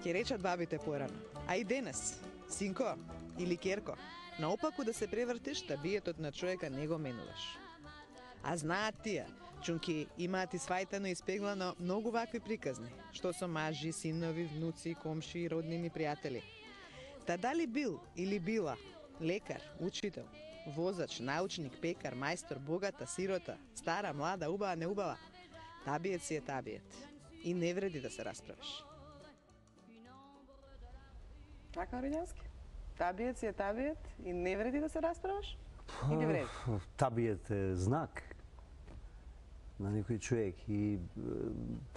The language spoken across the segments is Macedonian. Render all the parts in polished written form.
Ке речат бабите порано. А и денес, синко или керко, наопаку да се превртиш, табиетот на човека не го менуваш. А знаат тие, чунки имаат и свајтано и спеглано многу вакви приказни, што со мажи, синови, внуци, комши, роднини, пријатели. Та дали бил или била лекар, учител, возач, научник, пекар, мајстор, богата, сирота, стара, млада, убава, неубава, табиет си е табиет. И не вреди да се расправиш. Така, Оринјански? Табиет си е табиет и не вреди да се расправиш? Или вреди? Табиет е знак на некој човек и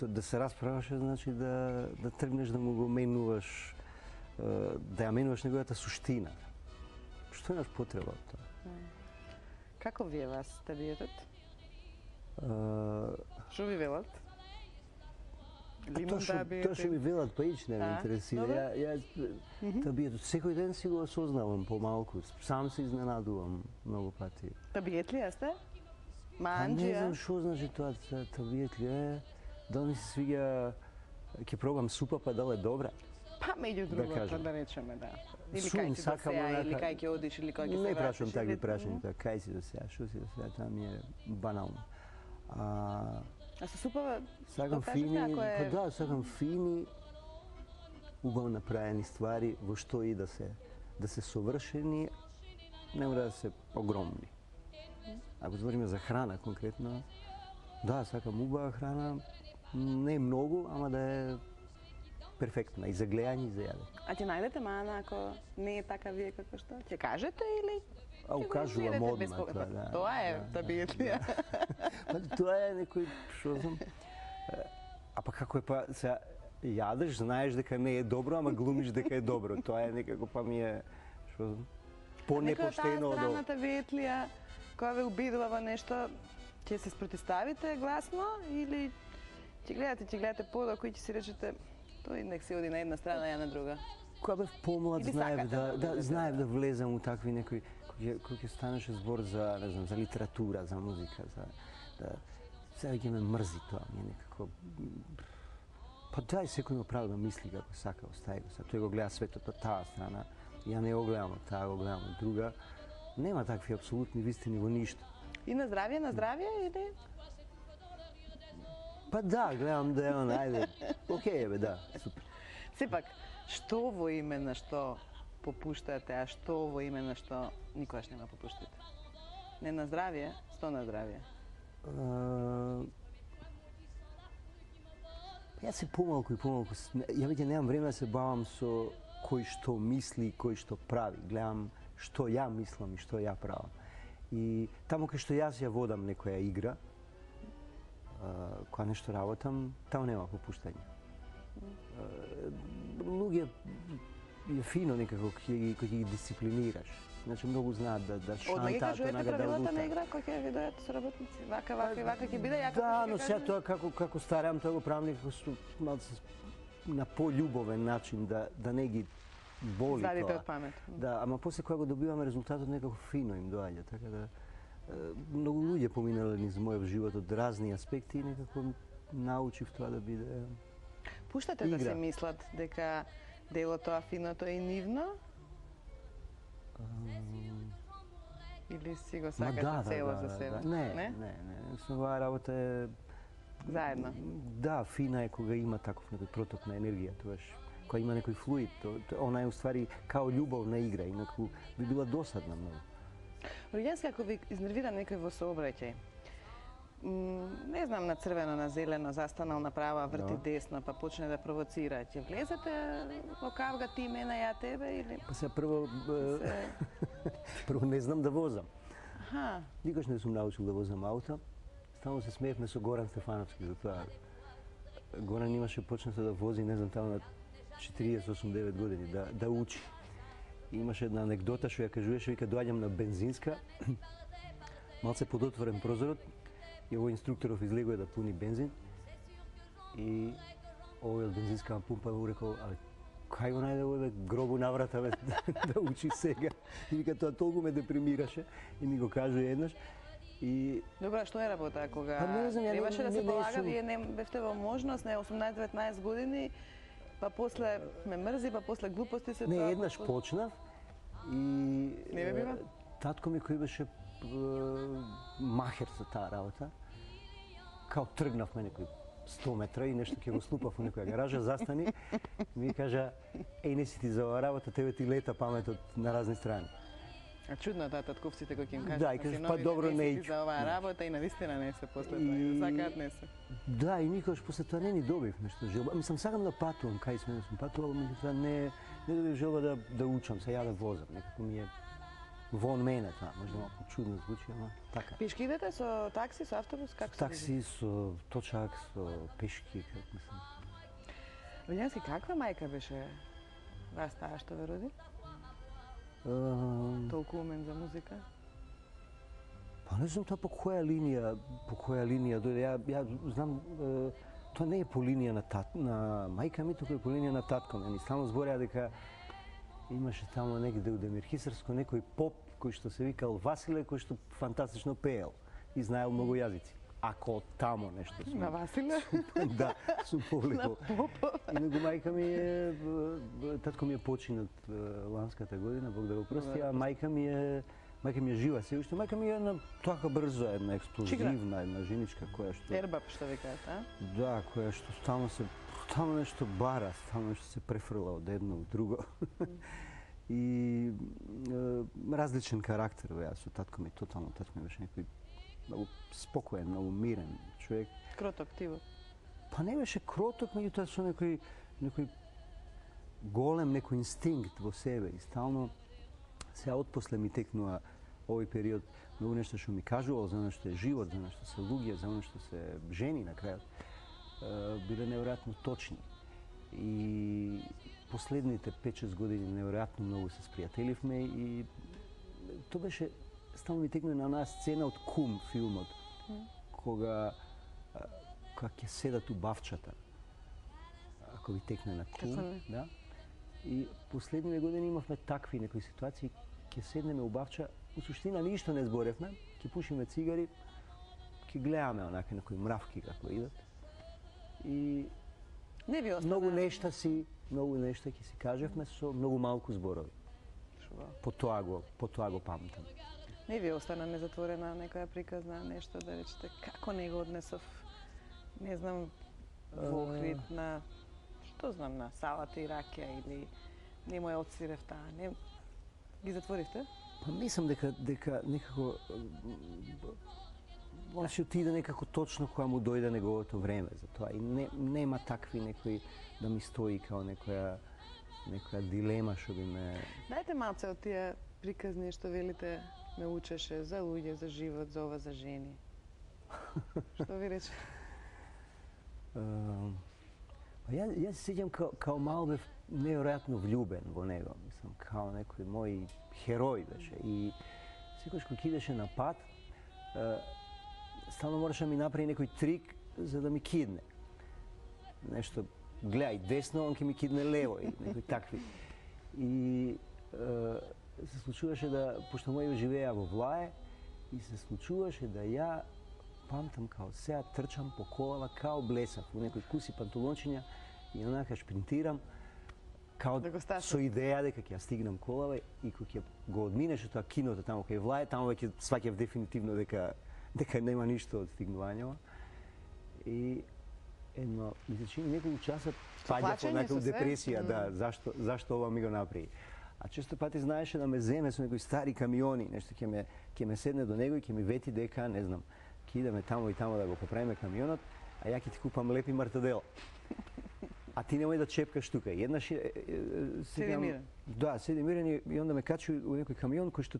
да се расправаш значи да тргнеш да му го менуваш, да ја менуваш неговата суштина. Што имаш потреба од тоа? Како ви е вас табиетот? Што ви велат? Тоа што ми велат па ич не ме интересира. Табиетот секој ден си го осознавам помалку. Сам се изненадувам многу пати. Табиет ли сте? Не знам што значи тоа табиет ли е. Да ми се свиѓа, ќе пробам супа па дали е добра. Па меѓу другото да речеме, да. Или Сум, кај си до сеја, или кај ќе одиш, или кај ќе се вратиш. Не прашувам такви прашања, кај си до сеја, што си до сеја, тоа ми е банално. А со супава, сакам фини, па да, сакам фини, убаво направени ствари, во што и да се совршени, не мора да се огромни. Ако збориме за храна конкретно, да, сакам убава храна, не многу, ама да е перфектна и за гледање и за јадење. А ќе најдете мана ако не е така вие како што? Ќе кажете или? Укажувам одма тоа, да. Тоа е табиет ли? Тоа е некој, што знам, а па како е па, сега, јадеш, знаеш дека не е добро, ама глумиш дека е добро. Тоа е некако па ми е, што знам, по-непоштено од страна табиет ли која ве убедува во нешто, ќе се спротивставите гласно или ќе гледате подоко и ќе си речете тој нек се оди на една страна, ја на друга? Кога бев помлад, знаев да влезам у такви некои, кој ќе станеше збор за, не знам, за литература, за музика, сега ќе ме мрзи тоа, ми е некако... Па дај секој има право да мисли како сака, остави го. Тој го гледа светот од таа страна, ја не го гледам од таа, го гледам од друга. Нема такви апсолутни вистини во ништо. И на здравје или? Па да, гледам да е ајде, окей бе, да, супер. Сепак, што во име на што попуштате, а што во име на што никогаш нема попуштате? Не на здравје, што на здравје? Јас се помалку и помалку, ја веќе немам време да се бавам со кој што мисли, кој што прави. Гледам што ја мислам и што ја правам. И таму кај што јас ја водам некоја игра, кога нешто работам, таму нема попуштање. Луѓе е фино некако кој ќе ги дисциплинираш. Значи многу знаат да шантаат, одма ги кажувате правилата на игра кој ќе ви дојат со работници. Вака ќе биде, ја како да, но сега тоа како старам, тоа го правам некако на пољубовен начин, да не ги боли тоа. Извадите од памет. Да, ама после кога го добиваме резултатот некако фино им доаѓа, така да многу луѓе поминале низ мојот живот од разни аспекти и некако научив тоа да биде пуштате да се мислат дека дело тоа финото е и нивно? Или си го сакате цело за себе? Не. Оваа работа е заедно. Да, фина е кога има таков некој проток на енергија, тоаш кога има некој флуид, она е уствари као љубовна игра, инаку би била досадна многу. Оринјански, ако ви изнервира некој во сообраќај, не знам, на црвено, на зелено, застанал направо, врти десно, па почне да провоцира, ќе влезете во кавга ти, мене, ја тебе или? Па се прво не знам да возам. Никош не сум научил да возам ауто. Стално се смеевме со Горан Стефановски за тоа. Горан имаше почнато да вози, не знам, таму на 48-9 години, да учи. Имаше една анекдота што ја кажуваше, вика, доаѓам на бензинска, малце подотворен прозорот, и овој инструкторов излегува да пуни бензин и овој од бензинска пумпа му рекол, кај го најде овој гробу наврата да учи сега. И вика, тоа толку ме депримираше и ми го кажува еднаш. Добра, што е работа кога требаше да се полага, вие не бевте во можност, не 18-19 години, Па после ме мрзи, па после глупости се Не, тоа. еднаш почнав и Не бе бива? татко ми кој беше махер за таа работа, као тргнавме некои 100 метра и нешто ќе го слупав во некоја гаража, застани, ми кажа, еј, не си ти за оваа работа, тебе ти лета паметот на разни страни. А чудно е таа татковците кои ќе им кажат Да, и кажеш, па добро, не си иќу. за оваа работа и навистина не се после тоа. Сакаат не се. Да, и никогаш после тоа не ни добив нешто желба. Мислам, сакам да патувам, кај сме сум патувал, меѓутоа не добив желба да учам, се ја да возам, некако ми е вон мене тоа, може малку чудно звучи, ама така. Пешки идете со такси, со автобус, како се? Такси, со точак, со пешки, како мислам. Вилјански, каква мајка беше вас таа што ве роди? Толку умен за музика? Па не знам тоа по која линија дојде. Ја знам, тоа не е по линија на мајка ми, туку е по линија на татко ми. Ни стално збореа дека имаше тамо негде у Демирхисарско некој поп кој што се викал Василе, кој што фантастично пеел и знаел многу јазици. Ако тамо нешто сум. На Василе? Да, сум повлекол. На поп. Инаку мајка ми е, татко ми е починат ланската година, Бог да го прости, а мајка ми е жива се уште. Мајка ми е една така брза, една експлозивна, една женичка која што Ербап што викаат, а? Да, која што стално нешто бара, стално нешто се префрла од едно во друго. И различен карактер беа со татко ми, тотално татко ми беше некој многу спокоен, многу мирен човек. Кроток тиво. Па не беше кроток, меѓутоа со некој голем некој инстинкт во себе и стално сега отпосле ми текнува овој период многу нешто што ми кажувал за нешто е живот, за нешто се луѓе, за нешто се жени на крајот, биле неверојатно точни. И последните 5-6 години неверојатно многу се спријателивме и тоа беше стално ми текнува на онаа сцена од Кум филмот, кога ќе седат у бавчата, ако ви текне на Кум, да? И последниве години имавме такви некои ситуации, ќе седнеме у бавча, у суштина ништо не зборевме, ќе пушиме цигари, ќе гледаме онака некои мравки како идат. И не ви остана многу нешта ќе си кажевме со многу малку зборови. По тоа го памтам. Не ви остана незатворена некоја приказна нешто да речете како не го однесов, не знам, во Охрид на што знам, на салата и ракија или не му ја отсвирев таа, не ги затворивте? Па мислам дека некако може отиде некако точно кога му дојде неговото време за тоа и нема такви некои да ми стои као некоја дилема што би ме... Дајте малце од тие приказни што велите ме учеше за луѓе, за живот, за ова, за жени. Што ви рече? Јас се сеќам као мал бев неверојатно влюбен во него, мислам, као некој мој херој беше и секогаш кога идеше на пат, стално мораше да ми направи некој трик за да ми кидне. Нешто, гледај десно, он ќе ми кидне лево и некои такви. И се случуваше да, пошто мој живееа во Влае, и се случуваше да ја памтам као сега трчам по колава као блесав во некои куси панталончиња и онака шпринтирам као да со идеја дека ќе ја стигнам колава и кога ќе го одминеше тоа киното таму кај Влае, таму веќе сваќав дефинитивно дека нема ништо од стигнувањето. И едно, ми се чини неколку часа паѓав онака у депресија, да, зашто ова ми го направи. А често пати знаеше да ме земе со некои стари камиони, нешто ќе ме седне до него и ќе ми вети дека, не знам, ќе идеме тамо и тамо да го поправиме камионот, а ја ќе ти купам лепи мартадела. А ти немој да чепкаш тука. Еднаш седи мирен. Да, седи мирен и онда ме качи у некој камион кој што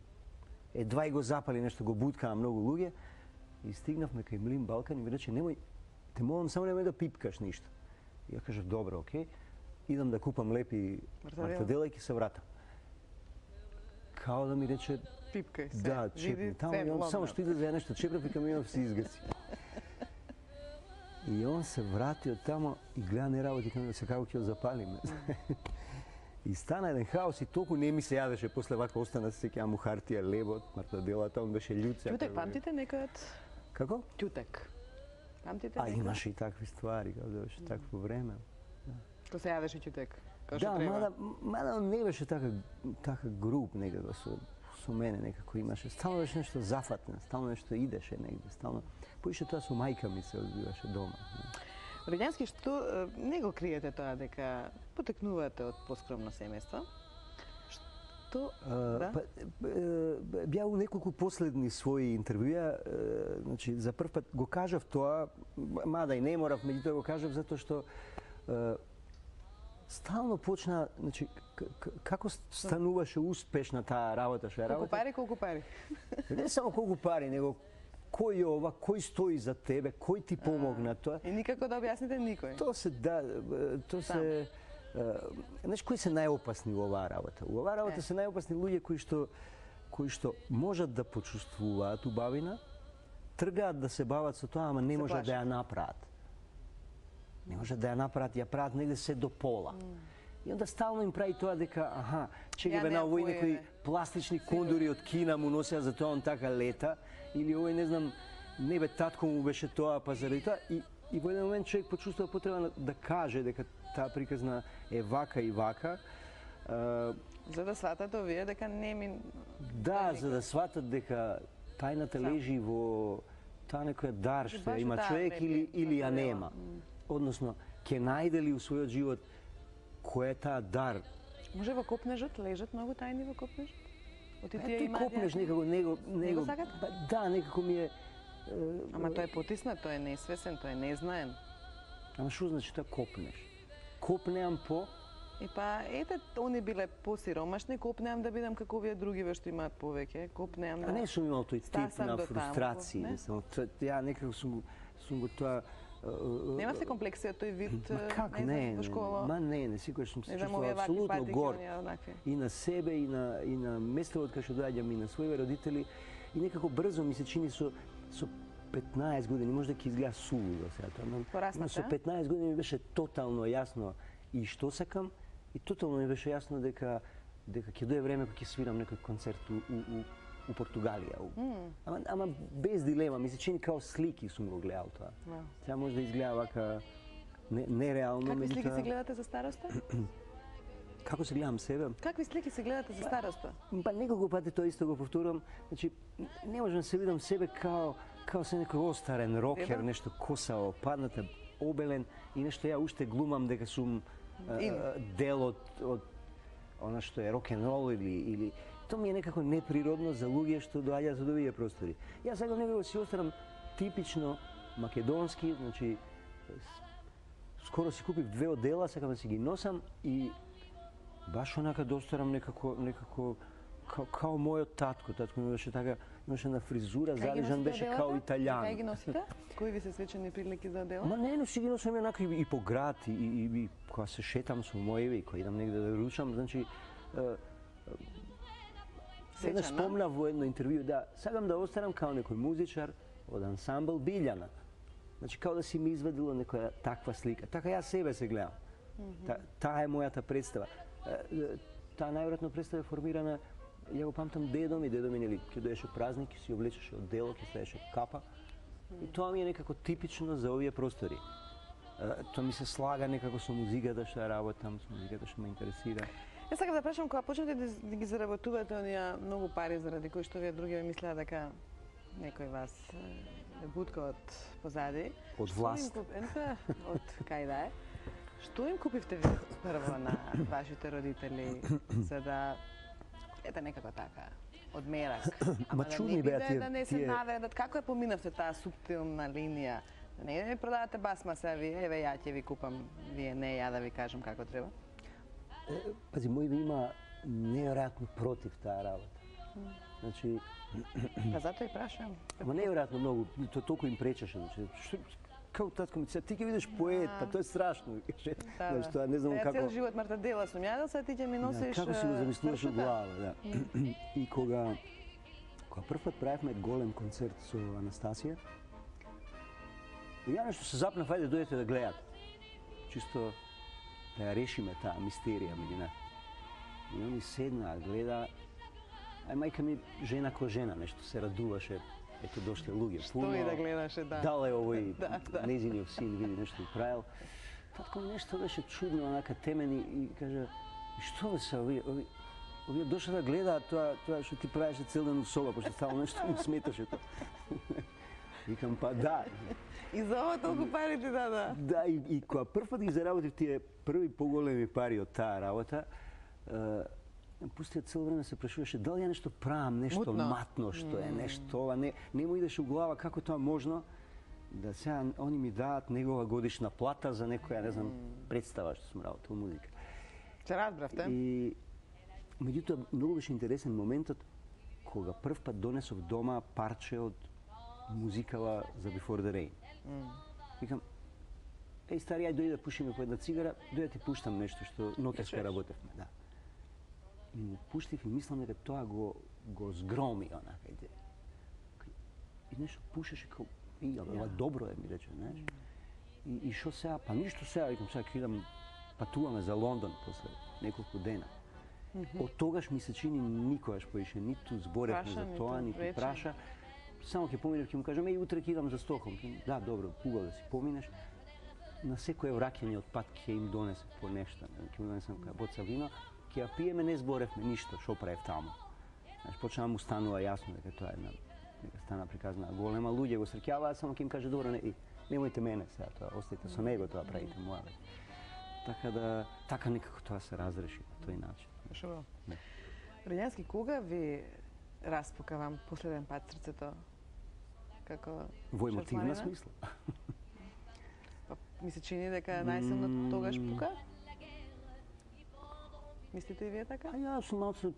едва и го запали, нешто го буткаа многу луѓе и стигнавме кај Млин Балкан и ми рече немој, те молам само немој да пипкаш ништо. И ја кажав добро, окей. Идам да купам лепи мартадела и ќе се вратам. Као да ми рече пипкај се. Да, чепни. Само што иде за нешто чеправ и камионот се изгаси. И он се врати од тамо и гледа не работи камионот, се како ќе го запалиме. И стана еден хаос и толку не ми се јадеше, после вака остана се сеќавам му хартија, лебот, мартаделата, он беше људ. Ќутек, памтите некојат? Како? Ќутек. Памтите некојат? Имаше и такви ствари, како да беше такво време. Ко се јадеше ќутек, како што Да, треба. мада он не беше така груб некако со мене, некако имаше. Стално беше нешто зафатно, стално нешто идеше негде, стално. Поише тоа со мајка ми се одбиваше дома. Оригински, што не го криете тоа дека потекнувате од поскромно семејство? Што да? Беа у неколку последни своји интервјуа, значи за прв пат го кажав тоа, мада и не морав, меѓутоа го кажав затоа што стално почна, значи како стануваше успешна таа работа што ја работа. Колку пари? Не само колку пари, него кој е ова, кој стои за тебе, кој ти помогна тоа. И никако да објасните никој. Тоа се знаеш кои се најопасни во оваа работа? Во оваа работа се најопасни луѓе кои што можат да почувствуваат убавина, тргаат да се бават со тоа, ама не можат да ја направат. Не можат да ја направат, ја прават негде се до пола. И онда стално им прави тоа дека, чекаме на овој некои пластични кондури од Кина му носеа, за тоа он така лета, или овој не знам, не бе татко му беше тоа, па заради тоа. И во еден момент човек почувствува потреба да каже дека таа приказна е вака и вака. За да сватат овие дека не ми... Да, за да сватат дека тајната лежи во таа некоја дар што има човек или ја нема. Односно, ќе најде ли у својот живот кој е таа дар? Може во копнежот лежат многу тајни во копнежот? Тој копнеж некако него да, некако ми е. Ама тој е потиснат, тој е несвесен, тој е незнаен. Ама што значи тоа копнеш? Копнеам по? И па, ете, они биле посиромашни, копнеам да бидам како овие другиве што имаат повеќе, копнеам да... А не сум имал тој тип на фрустрација, ја некако сум го тоа... Немавте комплекси од тој вид, во школа? Не, секогаш сум се чувствувал апсолутно горд. И на себе, и на местото од кај што доаѓам, и на своите родители. И некако брзо ми се чини со 15 години, може да ќе изгледа сулудо сега тоа, но со 15 години ми беше тотално јасно и што сакам, и тотално ми беше јасно дека ќе дое време кога ќе свирам некој концерт у Португалија. Ама без дилема, ми се чини као слики сум го гледал тоа. Сега може да изгледа вака нереално. Какви слики се гледате за староста? Како се гледам себе? Какви слики се гледате за староста? Па неколку пати тоа исто го повторувам. Значи, не можам да се видам себе као се некој остарен рокер, нешто косао, падната, обелен и нешто ја уште глумам дека сум дел од она што е рок-н-рол или тоа ми е некако неприродно за луѓе што доаѓаат од овие простори. Јас сакам некако си останам типично македонски, значи скоро си купив 2 одела, сакам да си ги носам и баш онака да останам некако као мојот татко. Татко ми беше така, имаше една фризура, залежан беше као италијан. Кај ги носите? Кои ви се свечени прилики за одела? Ма не си ги носам онака и по град, и кога се шетам со мојеви, кога идам негде да ручам, значи Еднаш спомнав во едно интервју, да, сакам да останам као некој музичар од ансамбл Билјана. Значи, као да си ми извадило некоја таква слика. Така јас себе се гледам. Таа е мојата представа. Таа најверојатно представа е формирана, ја го памтам дедо ми, нели, ќе доеше празник, ќе си облечеше оддело, ќе ставеше капа. И тоа ми е некако типично за овие простори. Тоа ми се слага некако со музиката што ја работам, со музиката што ме интересира. Јас сакам да прашам, кога почнете да ги заработувате оние многу пари заради кои што вие други мислеа дека некој вас е бутка од позади. Од власт. Од кај да е. Што им купивте вие прво на вашите родители за да ете некако така одмерак? Ама чудни беа тие. Да не се навредат. Како ја поминавте таа суптилна линија? Не ми продавате басма се вие, еве ја ќе ви купам, вие не, ја да ви кажам како треба. Пази, мој ви има неверојатно против таа работа. Значи... Па затоа и прашам. Ама неверојатно многу, тоа толку им пречеше. Значи, како татко ми се, ти ќе видиш поет, па тоа е страшно. Значи, тоа не знам како... Цел живот марта дела сум јадел, сега ти ќе ми носиш... Како си го замислуваш од глава, да. И кога прв пат правевме голем концерт со Анастасија, ја нешто се запнав, ајде дојдете да гледате. Чисто да ја решиме таа мистерија меѓу нас. И они седна, гледа, мајка ми жена ко жена, нешто се радуваше, ето дошле луѓе. Што и да гледаше, да. Дал е овој незиниот син, види нешто правил. татко ми нешто беше чудно, онака темени и кажа, и што бе се, овие дошле да гледаат тоа што ти правеше цел ден у соба, пошто стално нешто му сметаше тоа. Викам, па да. И за ова толку пари ти дада? Да, и кога прв пат ги заработив тие први поголеми пари од таа работа, пустиот цел време се прашуваше дали ја нешто правам, нешто матно, што е нешто ова, не му идеше у глава како тоа можно да сега они ми даат негова годишна плата за некоја, не знам, представа што сум работел музика. Се разбравте? И меѓутоа многу беше интересен моментот кога прв пат донесов дома парче од музикала за Before the Rain. Викам, стари, ај дојди да пушиме по една цигара, дојди да ти пуштам нешто што ноќеска работевме, да. И му пуштив и мислам дека тоа го згроми, онака, и нешто пушеше као, ова добро е, ми рече, знаеш. И шо сега? Па ништо сега, викам, сега ќе идам, патуваме за Лондон после неколку дена. Од тогаш ми се чини никогаш поише, ниту зборевме за тоа, ниту праша. Само ќе поминев, ќе му кажам, утре ќе идам за Стокхолм. Да, добро, убаво да си поминеш. На секое враќање од пат ќе им донесе по нешто. Ќе му донесам боца вино, ќе ја пиеме, не зборевме ништо, шо правев таму. Значи, почна му станува јасно дека тоа е дека стана приказна голема, луѓе го среќаваат, само ќе им каже, добро, немојте мене сега тоа, остајте со него, тоа правите моја. Така да, така некако тоа се разреши на тој начин. Шо? Родјански, кога ви распука вам последен пат срцето? Како во емотивна смисла. Па, ми се чини дека најсилно тогаш пука? Мислите и вие така? Јас сум малце,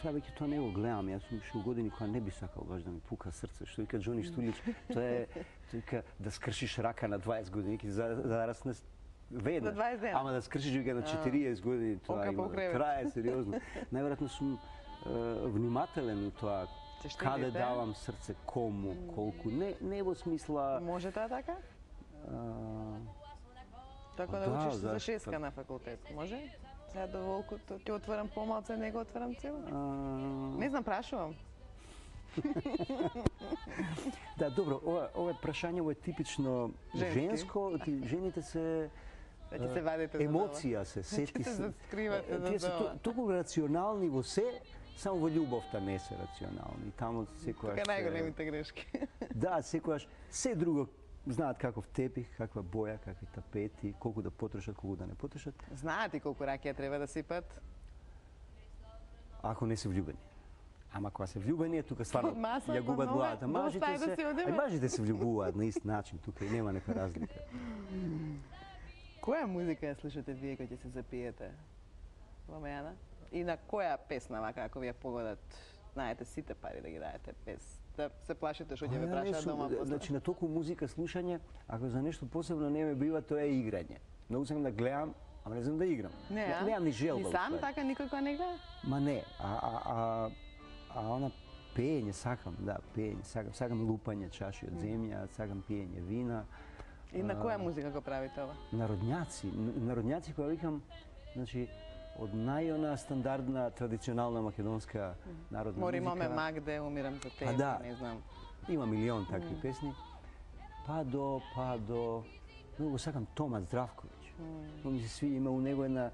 сега веќе тоа не го гледам, јас сум уште у години кога не би сакал баш да ми пука срце, што вика Џони Штулиќ, тоа е вика да скршиш рака на 20 години, за да расне веднаш. Ама да скршиш вика на 40 години, тоа има трае сериозно. Најверојатно сум внимателен у тоа каде давам срце, кому, колку, не во смисла... Може тоа така? Така да учиш за шеска на факултет, може? Сега до волкото ќе отворам помалце, не го отворам цел? Не знам, прашувам. Да, добро, ова прашање е типично женско, жените се емоција се сети се. Тие се толку рационални во се, само во љубовта не се рационални. Таму секојаш Така најголемите грешки. Да, секојаш се друго знаат каков тепих, каква боја, какви тапети, колку да потрошат, колку да не потрошат. Знаат и колку ракија треба да сипат? Ако не се влюбени. Ама кога се влюбени, тука стварно ја губат главата. Мажите се влюбуваат на ист начин, тука и нема нека разлика. Која музика ја слушате вие кога ќе се запиете? Ламеана? И на која песна, вака, ако вие погодат, знаете сите пари да ги даете без да се плашите што ќе ве прашаат дома после? Значи, на толку музика слушање, ако за нешто посебно не ме бива, тоа е играње. Многу сакам да гледам, ама не знам да играм. Немам ни желба. И сам така никој не гледа? Ма не, а она пеење сакам, да, пеење сакам. Сакам лупање чаши од земја, сакам пиење вина. И на која музика го правите ова? Народњаци која викам, значи, од најона стандардна, традиционална македонска народна музика. Мори моме Магде, умирам за тебе, не знам. Има милион такви песни. Па до... Многу сакам Тома Здравковиќ. Ми се сви, има у него една...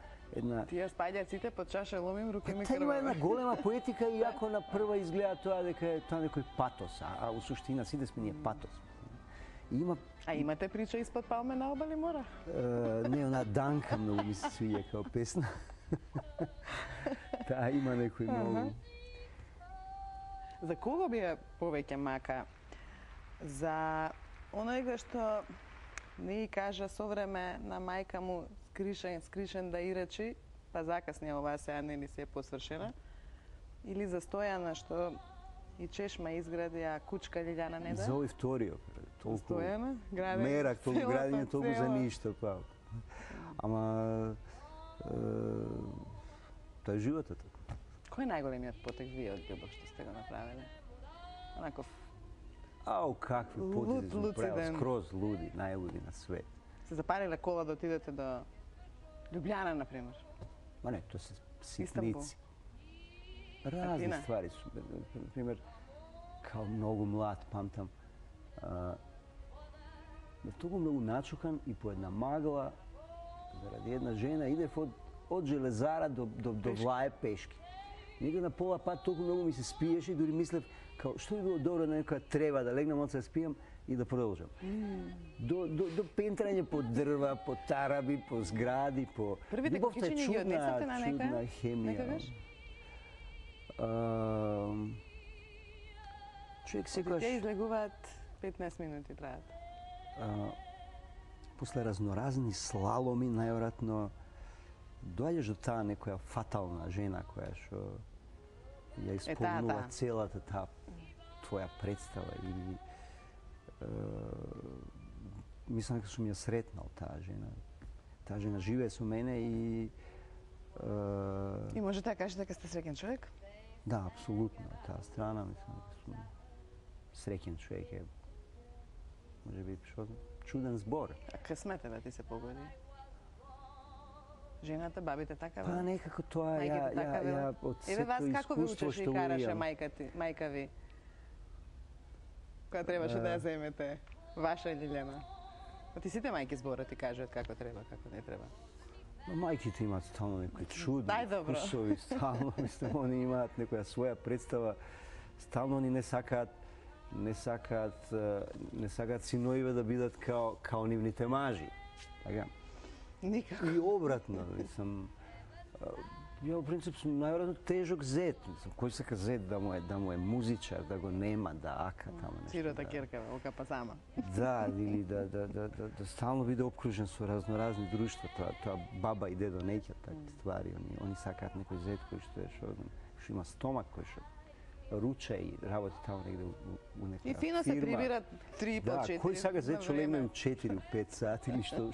Тие спаѓаците под чаша ломим, руки ми крвава. Има една голема поетика, иако на прва изгледа тоа дека е тоа некој патос, а у суштина сите сме ние патос. А имате прича испод Палме на обали мора? Не, она Данка многу ми се свиѓа као песна. Таа има некој многу. За кого би ја повеќе мака? За оној што не ги кажа со време на мајка му скришен да и речи, па закасне оваа сега не ни се е посвршена, или за Стојана што и чешма изгради, а кучка Лиљана не да? За овој вториот. Стојана, градење. Мерак, толку градење, толку за ништо, па. Ама тоа е животот. Кој е најголемиот потек вие од љубов што сте го направиле? Онаков какви потези сум правил, скроз луди, најлуди на свет. Се запариле кола да отидете до Љубљана, например? Ма не, тоа се ситници. Разни ствари су. Например, као многу млад, памтам, бев толку многу начукан и по една магла, заради една жена, идев од железара до Влаје пешки. Некој на пола пат толку многу ми се спиеше и дури мислев, као, што би било добро на некоја трева да легнам од се да спијам и да продолжам. До пентрање по дрва, по тараби, по згради, по... Првите кафичиња ги однесете на чудна хемија. Човек секогаш... Те излегуваат 15 минути траат. После разноразни слаломи, најверојатно, доаѓаш до таа некоја фатална жена која што ја исполнува целата таа твоја представа или мислам дека сум ја сретнал таа жена. Таа жена живее со мене и може да кажете дека сте среќен човек? Да, апсолутно. Таа страна мислам дека сум среќен човек е. Може би што чуден збор. А късметот ти се погоди? Жената, бабите така Па некако тоа ја од сето искуство што Еве вас како ви учеше и караше мајка ви? Кога требаше да ја земете? Ваша Лилјана? Ти сите мајки зборат и кажуваат како треба, како не треба. Мајките имаат стално некои чудни вкусови, стално, мислам, они имаат некоја своја представа, стално они не сакаат синовиве да бидат као нивните мажи. Така? Никако. И обратно, мислам, ја во принцип сум најверојатно тежок зет, мислам, кој сака зет да му е музичар, да го нема, да ака тамо нешто. Сирота керка, окапа сама. Да, или да стално биде обкружен со разноразни друштва, тоа баба и дедо неќат такви ствари, они сакаат некој зет кој што има стомак, кој што руча и работи тамо негде у нека фирма. И фино се прибират 3 по 4. Да, кој сака зет што легне 4-5 сати или што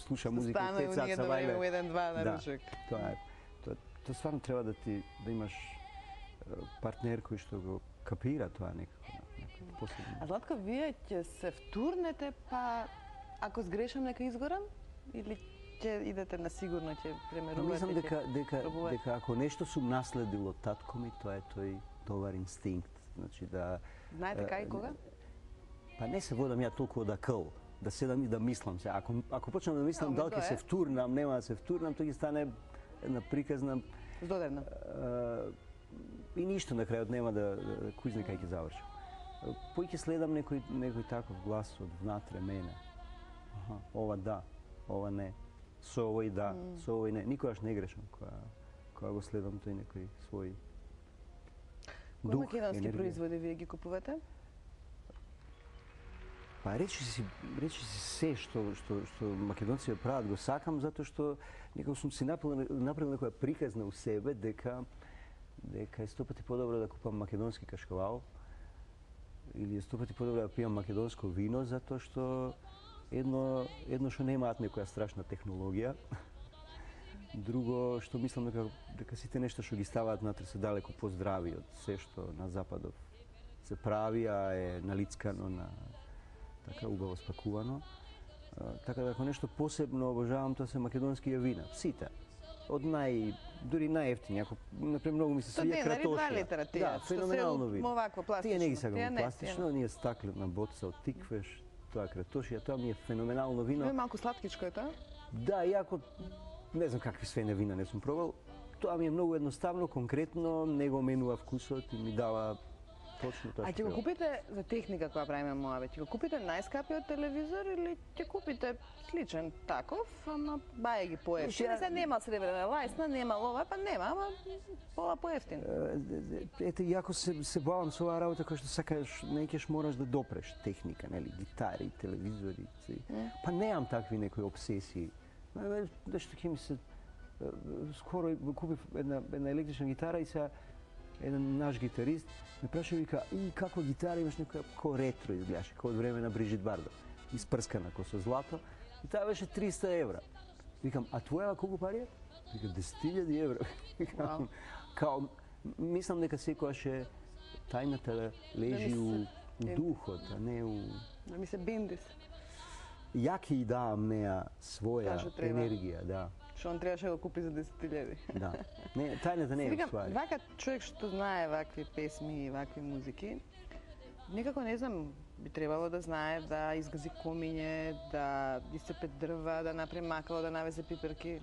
слуша музика 5 сати са вајле. Стане у 1-2 на ручек. Тоа стварно треба да имаш партнер кој што го капира тоа некако. А Златко, вие ќе се втурнете, па ако сгрешам нека изгорам? Или ќе идете на сигурно, ќе премерувате? Мислам дека ако нешто сум наследил од татко ми, тоа е тој добар инстинкт. Значи да... Знаете кај и кога? Па не се водам ја толку од акъл, да седам и да мислам се. Ако почнам да мислам дали ќе се втурнам, нема да се втурнам, тоа ќе стане една приказна... Здодевна. И ништо на крајот нема да кој знае кај ќе завршам. Пој ќе следам некој таков глас од внатре мене. Ова да, ова не. Со овој да, со овој не. Никогаш не грешам кога го следам тој некој свој дух, Кои македонски производи вие ги купувате? Па речи си се што македонците прават го сакам, затоа што некако сум си направил некоја приказна у себе дека е 100 пати подобро да купам македонски кашкавал или е 100 пати подобро да пијам македонско вино, затоа што едно што немаат некоја страшна технологија, друго што мислам дека сите нешта што ги ставаат внатре се далеко поздрави од се што на западов се прави, а е налицкано на така убаво спакувано. Така да ако нешто посебно обожавам, тоа се македонски вина. Сите. Од дури најевтини, ако например многу ми се свија кратошија. Да, феноменално вино. Овакво пластично. Тие не ги сакам пластично, ние стаклена боца од тиквеш, тоа кратошија, тоа ми е феноменално вино. Тоа е малку сладкичко е тоа? Да, иако не знам какви свене вина не сум пробал, тоа ми е многу едноставно, конкретно, не го менува вкусот и ми дава точно тоа. А ќе го купите за техника која правиме Моабе, ќе го купите најскапиот телевизор или ќе купите сличен таков, ама бај ги поевтин? Сега нема сребрена лајсна, нема ова, па нема, ама пола поевтин. Ете, иако се бавам со оваа работа, која што сакаш, неќеш мораш да допреш техника, нели, гитари, телевизори, па немам такви некои обсесии. Дешто ќе ми се скоро купив една електрична гитара и сега еден наш гитарист ме праша и вика, како гитара имаш некоја ко ретро изгледаше, како од време на Брижит Бардо, испрскана ко со злато, и таа беше 300 евра. Викам, а твоја колку пари е? Вика, 10.000 евра. Као, мислам дека секојаш е тајната лежи у духот, а не у... Да ми се бендис. Ја ќе и давам неа своја енергија, да. Што он требаше да го купи за 10.000. Да. Не, тајната не е ствари. Вака човек што знае вакви песми и вакви музики, некако не знам, би требало да знае да изгази комиње, да исцепе дрва, да направи макало, да навезе пиперки.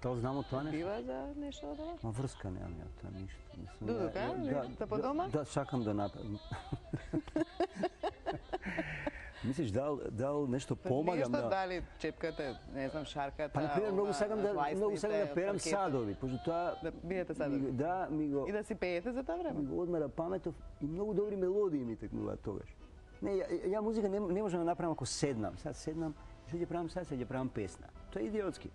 Тоа знам од тоа нешто. Бива за нешто од ова? Ма врска немам ја тоа ништо. Дудука, за по дома? Да, сакам да направам. Мислиш дал нешто помагам Нешто да. дали чепката, не знам, шарката. Па на пример многу сакам да перам садови, пошто тоа Да биете садови. Да, ми го И да си пеете за тоа време. ми го одмера паметов и многу добри мелодии ми текнуваат тогаш. Не, ја музика не можам да направам ако седнам. Сега седнам, што ќе правам сега, ќе правам песна. Тоа е идиотски.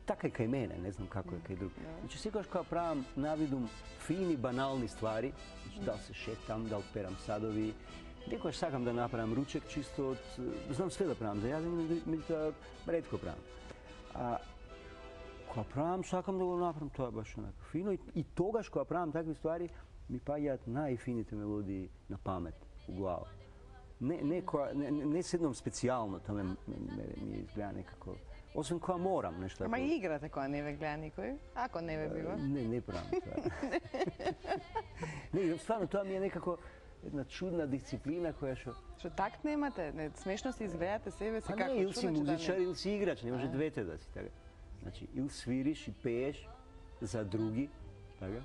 Така е кај мене, не знам како е кај друг. Значи секогаш кога правам навидум фини банални ствари, значи дал се шетам, дал перам садови, некогаш сакам да направам ручек чисто од знам све да правам за јадење, меѓутоа ретко правам. А кога правам сакам да го направам тоа баш онака фино и тогаш кога правам такви ствари ми паѓаат најфините мелодии на памет у глава. Не седнам специјално, тоа ми изгледа некако. Освен кога морам нешто. Ама и играте кога не ве гледа никој? Ако не ве бива? Не правам тоа. Не, стварно тоа ми е некако една чудна дисциплина која Што такт немате? Не, смешно си изгледате себе си како не, или си чудно, музичар, или си играч, не може двете да си така. Значи, или свириш и пееш за други, така?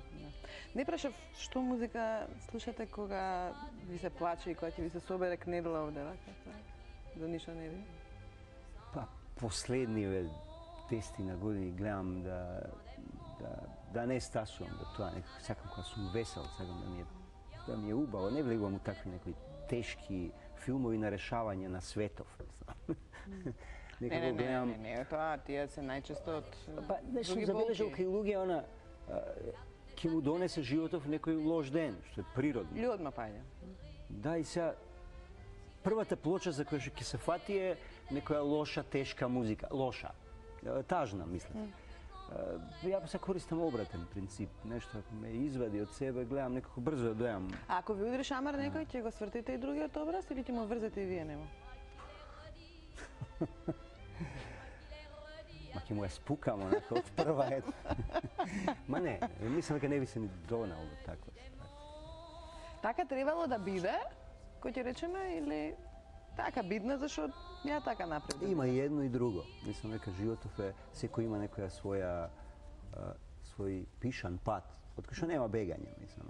Не прашав што музика слушате кога ви се плаче и кога ќе ви се собере кнедла овде, така? За ништо не ви? Па, последниве 10 години гледам да не стасувам до тоа, некако сакам кога сум весел, сакам да ми е убаво, не влегувам у такви некои тешки филмови на решавање на светов. Не, тоа тие се најчесто од Па, нешто други забележал болки. кај луѓе она ќе му донесе животов некој лош ден, што е природно. Или одма паѓа. Да, и сега првата плоча за која што ќе се фати е некоја лоша, тешка музика. Лоша. Тажна, мислам. Ја се користам обратен принцип. Нешто ако ме извади од себе, гледам некако брзо да дојам. А ако ви удри шамар некој, ќе го свртите и другиот образ или ќе му врзете и вие нема? Ма ќе му ја спукам онака од прва ет. Ма не, мислам дека не би се ни донал до таква. Така требало да биде, кој ќе речеме, или така бидна, зашто ја така напред. Има и едно и друго. Мислам дека животов е, секој има некоја свој пишан пат, од кој што нема бегање, мислам.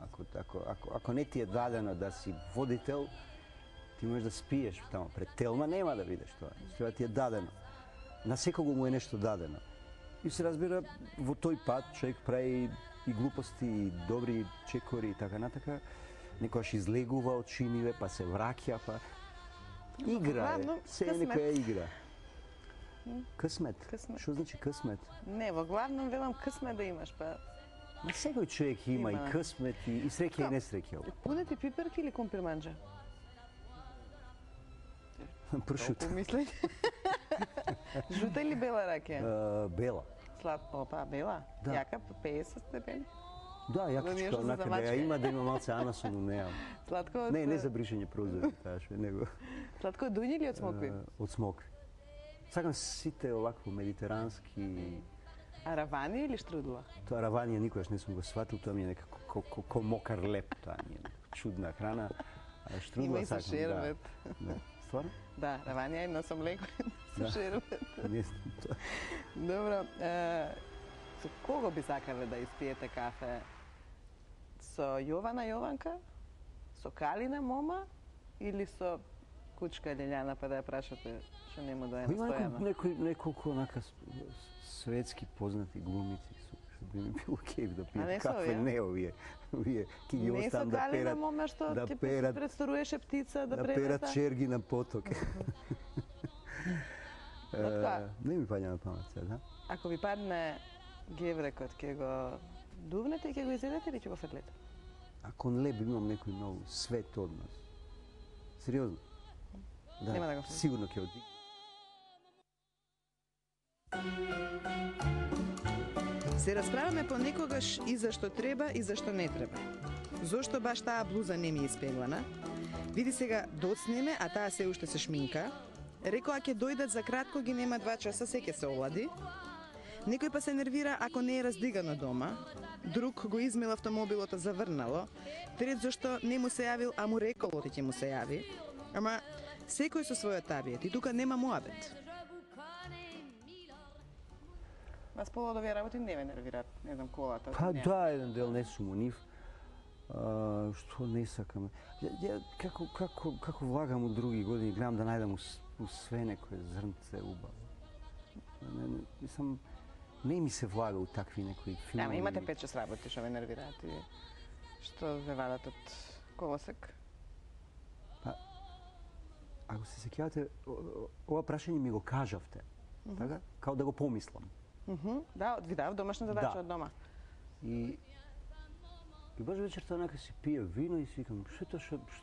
Ако не ти е дадено да си водител, ти можеш да спиеш тамо пред телма, нема да видиш тоа. Тоа ти е дадено. На секого му е нешто дадено. И се разбира, во тој пат човек прави и глупости, и добри чекори и така натака. Некојаш излегува од чиниве, па се враќа, па игра е. Се е некоја игра. Късмет? Што значи късмет? Не, во главном велам късмет да имаш, па... Ма секој човек има и късмет, и среќа и несреќа. Пунети пиперки или компирманџа? Пршут. Помислење. Жута или бела ракија? Бела. Опа, бела? Да. Јака, 50 степени? Да, јакичка, онака да ја има, да има малце анасон, но неам. Сладко од... Не за бришење прозори, таа што него. Сладко од дуњи или од смокви? Од смокви. Сакам сите овакво медитерански. А равани или штрудла? Тоа раванија никогаш не сум го сватил, тоа ми е некако ко мокар леп, тоа ми е чудна храна. А штрудла има и со сакам, шербет. Да. Стварно? Да, раванија и носам леко со шербет. Не знам тоа. Добро, со кого би сакале да испиете кафе? Со Јована Јованка? Со Калина Мома? Или со Кучка Лилјана, па да ја прашате што не му дојде на Стојана? Има неколку онака светски познати глумици што би ми било кеф да пијат кафе, не овие. Овие ќе ги оставам да перат. Не со Калина Мома што ти представуваше птица да перат черги на поток. Не ми паѓа на памет сега, да? Ако ви падне геврекот, ќе го дувнете и ќе го изедете или ќе го фрлите? Ако не би имам некој многу свет однос. Сериозно? Да, нема да го сигурно ќе оди. Се расправаме понекогаш и зашто треба и зашто не треба. Зошто баш таа блуза не ми е испеглана? Види сега, доцнеме, а таа се уште се шминка. Рекоа ќе дојдат за кратко, ги нема 2 часа, се ќе се олади. Некој па се нервира ако не е раздигано дома. Друг го измил автомобилот заврнало. Трет зашто не му се јавил, а му рекол оти ќе му се јави. Ама секој со својот табиет и тука нема муабет. Вас повод овие работи не ве нервираат, не знам, колата. Па да, еден дел не сум у нив. Што не сакам. Ја како влагам у други години, гледам да најдам у све некое зрнце убаво. Мислам, не ми се влага у такви некои филми. Ама имате 5-6 работи што ве нервираат и што ве вадат од колосек? Па, ако се сеќавате, ова прашање ми го кажавте, така? Као да го помислам. Да, ви дав домашна задача од дома. И баш вечерта онака си пие вино и си викам, што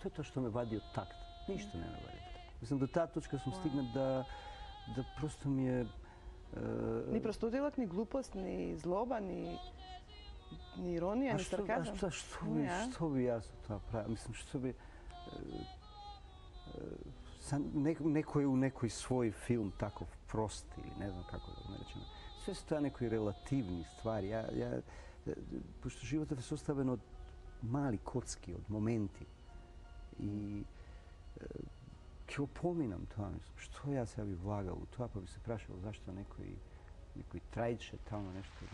е тоа што ме вади од такт? Ништо не ме вади од такт. Мислам, до таа точка сум стигнат да просто ми е... Ни простодилок, ни глупост, ни злоба, ни иронија, ни сарказам. Што би јас од тоа правил? Мислам, што би... Некој у некој свој филм таков прост или не знам како да го наречеме. Све се тоа некои релативни ствари. Пошто животот е составен од мали коцки, од моменти. И ќе го поминам тоа, мислам, што јас ја би влагал у тоа, па би се прашал зашто некој трајче тамо нешто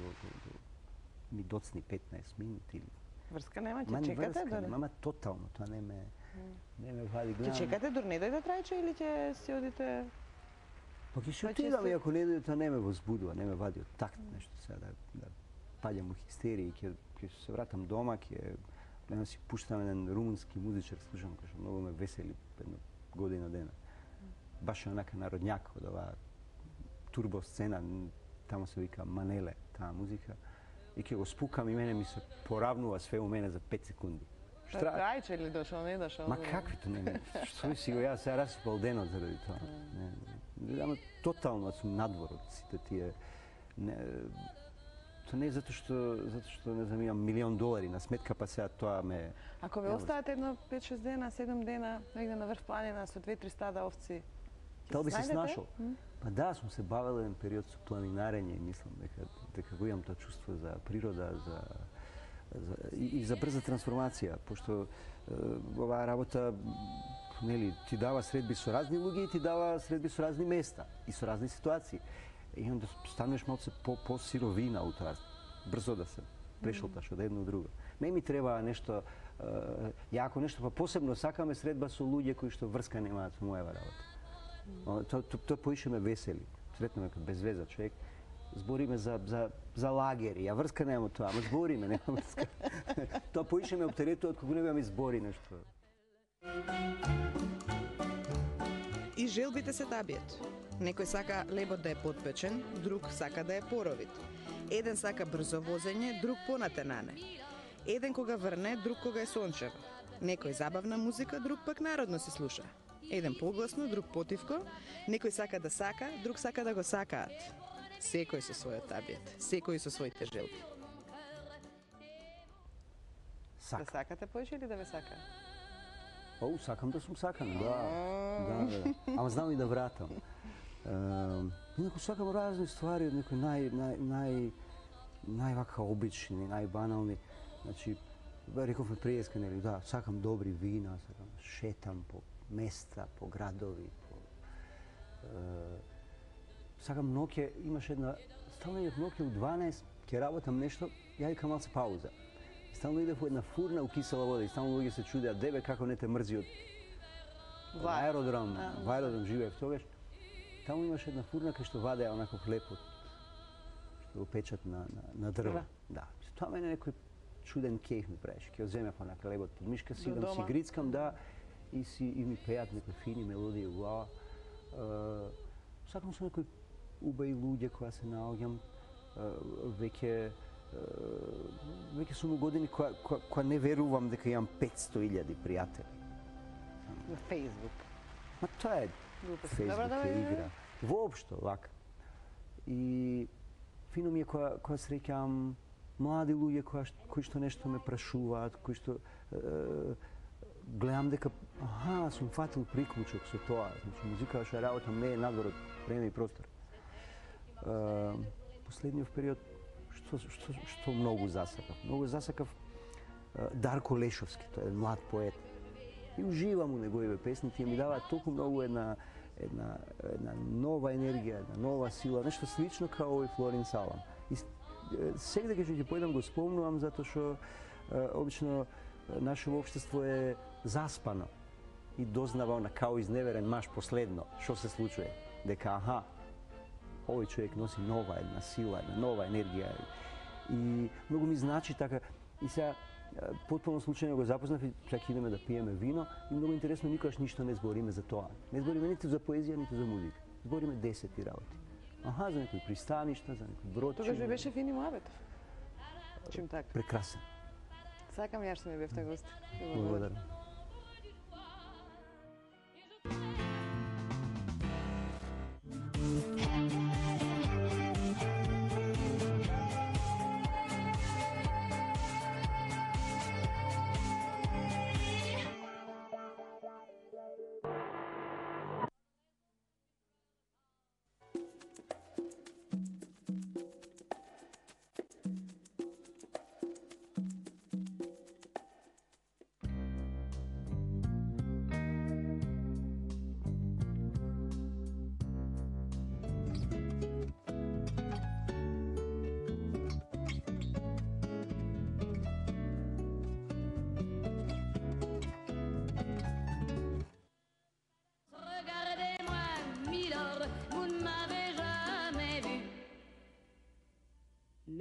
ми доцни 15 минути или... Врска нема, ќе чекате дори? Ама тотално, тоа не ме вади. Ќе чекате дори не дојде трајче или ќе си одите... Па ќе се отидам и ако не дојде, тоа не ме возбудува, не ме вади од такт нешто сега да паѓам у хистерија и ќе се вратам дома, ќе гледам си пуштам еден румунски музичар, слушам кој што многу ме весели една година дена. Баш онака народњак од оваа турбо сцена, тамо се вика Манеле, таа музика. И ќе го спукам и мене ми се поравнува све у мене за 5 секунди. Трајче ли дошол, не дошол? Ма каквито не, што си го јас сега расипал денот заради тоа. Ама тотално сум надвор од сите тие... Тоа не е затоа што не знам, имам $1.000.000 на сметка, па сега тоа ме... Ако ве оставате едно 5-6 дена, 7 дена, негде на врв планина со 2-3 стада овци, Дали би се снашол? Па да, сум се бавел еден период со планинарење и мислам дека го имам тоа чувство за природа, и за брза трансформација, пошто оваа работа нели ти дава средби со разни луѓе и ти дава средби со разни места и со разни ситуации. И онда станеш малце по-сировина у тоа, брзо да се прешолташ од едно до друго. Не ми треба нешто јако нешто, па посебно сакаме средба со луѓе кои што врска немаат со мојава работа. Тоа поише ме весели. Сретнаме како безвеза човек. Збориме за лагери, а врска нема тоа, ама збориме, нема врска. Тоа поише ме оптеретува од кога не ми збори нешто. И желбите се табиет. Некој сака лебот да е потпечен, друг сака да е поровит. Еден сака брзо возење, друг понатенане. Еден кога врне, друг кога е сончево. Некој забавна музика, друг пак народно се слуша. Еден погласно, друг потивко. Некој сака, друг сака да го сакаат. Секој со својот табиет, секој со своите желби. Да сакате поише или да ве сака? Сакам да сум сакан, да. Ама знам и да вратам. Инаку сакам разни ствари од некои највака обични, најбанални. Значи, рековме приеска, нели, да, сакам добри вина, сакам шетам по места, по градови, сакам ноќе, имаш една, стално идев ноќе у 12, ќе работам нешто, ја викам малце пауза. Стално идев у една фурна у кисела вода и стално луѓе се чудеа, дебе како не те мрзи од аеродром, во аеродром живеев тогаш. Таму имаш една фурна кај што вадеа онако хлебот, што го печат на дрво. Да, тоа мене некој чуден кејф ми правеше. Ќе одземев онака лебот под мишка, си идам си грицкам, да, и ми пеат некои фини мелодии у глава. Сакам со некои убави луѓе која се наоѓам, веќе сум у години која не верувам дека имам 500.000 пријатели. На Фејсбук. Ма тоа е Фејсбук е игра. Воопшто, вака. И фино ми е која среќам млади луѓе кои што нешто ме прашуваат, кои што гледам дека сум фатил приклучок со тоа. Значи музика што работам не е надвор од време и простор. Последниот период што многу засакав. Многу засакав Дарко Лешовски, тој е млад поет. И уживам у неговите песни, тие ми даваат толку многу една нова енергија, една нова сила, нешто слично као и Флорин Салам. И сегде кога ќе појдам го спомнувам затоа што обично нашето општество е заспано и дознава она као изневерен маж последно што се случува, дека овој човек носи нова една сила, една нова енергија. И многу ми значи така. И сега потполно случајно го запознав и чак идеме да пиеме вино и многу интересно никогаш ништо не збориме за тоа. Не збориме ниту за поезија, ниту за музика. Збориме десети работи. За некои пристаништа, за некои бродчиња. Тогаш ви беше Фини Моабетов. Чим така? Прекрасен. Сакам ја што ми бевте гости. Благодарам.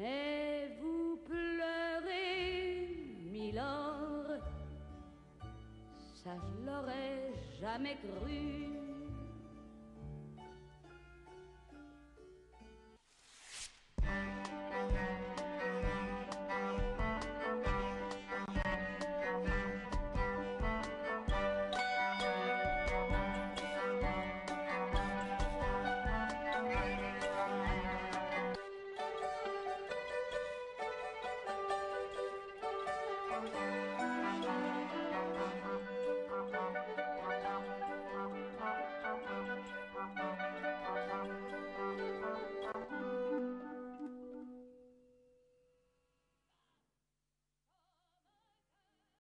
Mais vous pleurez, Milord, ça je l'aurais jamais cru.